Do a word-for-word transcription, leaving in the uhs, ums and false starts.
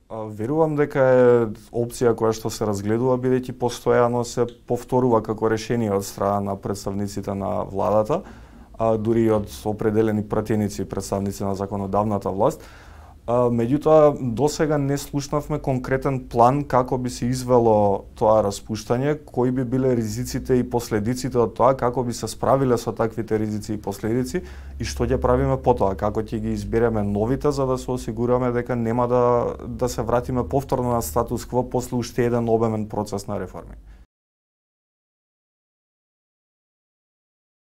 Верувам дека е опција која што се разгледува, бидејќи постојано се повторува како решение од страна на представниците на владата, а дури и од определени пратеници и представници на законодавната власт. Меѓутоа, досега не слушнавме конкретен план како би се извело тоа распуштање, кои би биле ризиците и последиците од тоа, како би се справиле со таквите ризици и последици и што ќе правиме потоа, како ќе ги избереме новите за да се осигураме дека нема да да се вратиме повторно на статус кво после уште еден обемен процес на реформи.